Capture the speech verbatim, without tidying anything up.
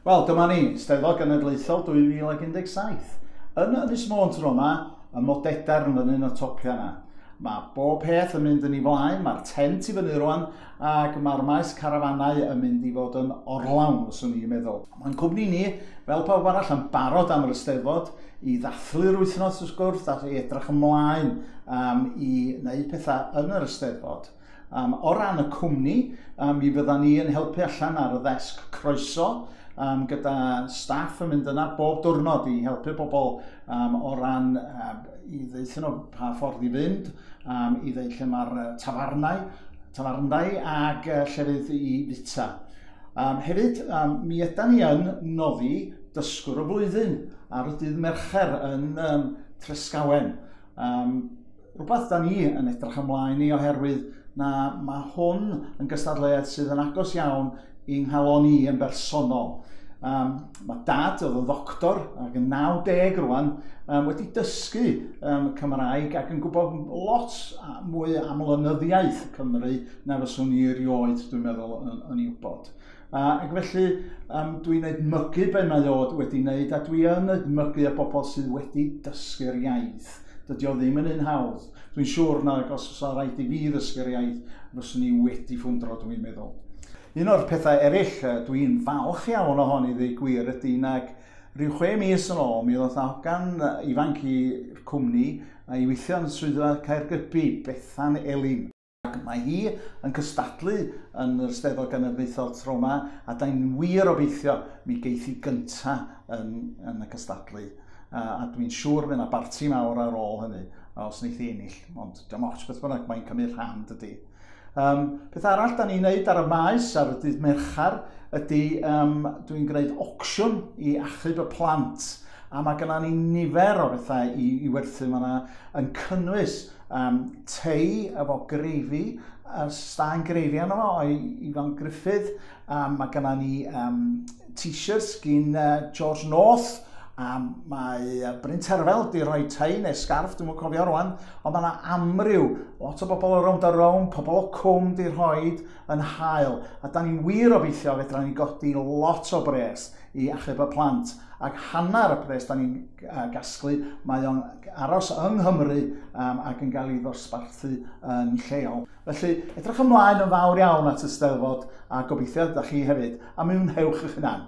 Wel, dyma ni, Steddfod Genedlaethol dwy fil ac un deg saith. Yn Ynys Môn tro yma, y Modedarn fyny yn y topia yna. Mae bob peth yn mynd yn ei flaen, mae'r tent i fyny rwan, ac mae'r maes carafanau yn mynd i fod yn orlawn, fyswn i'n meddwl. Mae'n cwmni ni, fel pawb arall, yn barod am yr Eisteddfod i ddathlu'r wythnos wrth gwrs, a i edrych ymlaen um, i wneud pethau yn yr Eisteddfod. Um, o ran y cwmni, um, mi fyddan ni yn helpu allan ar y ddesg croeso, um, gyda staff yn mynd yna bob diwrnod i helpu bobl um, o ran um, i ddeutha nhw pa ffordd i fynd, um, i ddeud lle mae'r tafarnau, tafarndai ac uh, llefydd i fita. Um, hefyd, um, mi ydan ni yn noddi dysgwr y flwyddyn ar y dydd Mercher yn um, Tresgawen. Um, rhywbeth da ni yn edrych ymlaen i oherwydd na mae hwn yn gystadleuaeth sydd yn agos iawn i'n nghalon i yn bersonol. Um, mae dad, oedd yn ddoctor ac yn naw deg rwan, um, wedi dysgu um, Cymraeg ac yn gwybod lot mwy am lenyddiaeth Cymru na fyswn i erioed, dwi'n meddwl, yn, yn ei wybod. Uh, ac felly um, dwi'n edmygu be mae o wedi wneud, a dwi yn edmygu y bobl sydd wedi dysgu'r iaith. Dydy o ddim yn un hawdd. Dwi'n siŵr na os oes rhaid i fi ddysgu'r iaith, fyswn i wedi ffwndro, dwi'n meddwl. Un o'r pethau eraill dwi'n falch iawn ohoni ddweud gwir ydy nag rhyw chwe mis yn ôl mi ddoth hogan ifanc i'r cwmni i weithio yn swyddfa Caergybi, Bethan Elin. Ac mae hi yn cystadlu yn yr Eisteddfod Genedlaethol tro yma, a da ni'n wir obeithio mi geith hi gynta yn, yn y cystadlu. Uh, a dwi'n siŵr fydd yna barti mawr ar ôl hynny, os wneith hi ennill, ond dim ots beth bynnag, mae'n cymryd rhan dydy. Um, peth arall da ni'n neud ar y maes ar y dydd Mercher ydy um, dwi'n gwneud auction i achub y plant. A mae genna ni nifer o bethau i, i werthu. Mae yna yn cynnwys um, tei efo greifi, staen greifi arno fo o'i Ifan Griffith. Um, mae genna ni um, t-shirts gyn uh, George North. A mae Bryn Terfel di rhoi tei neu sgarff, dwi'm yn cofio rwan, ond mae yna amryw, lot o bobl o Rownd a Rownd, pobl o Cwm di rhoid yn hael. A da ni'n wir obeithio fedra ni godi lot o bres i achub y plant. Ac hanner y pres da ni'n gasglu, mae o'n aros yng Nghymru um, ac yn cael ei ddosbarthu yn lleol. Felly, edrych ymlaen yn fawr iawn at y Steddfod a gobeithio da chi hefyd, a mwynhewch eich hunan.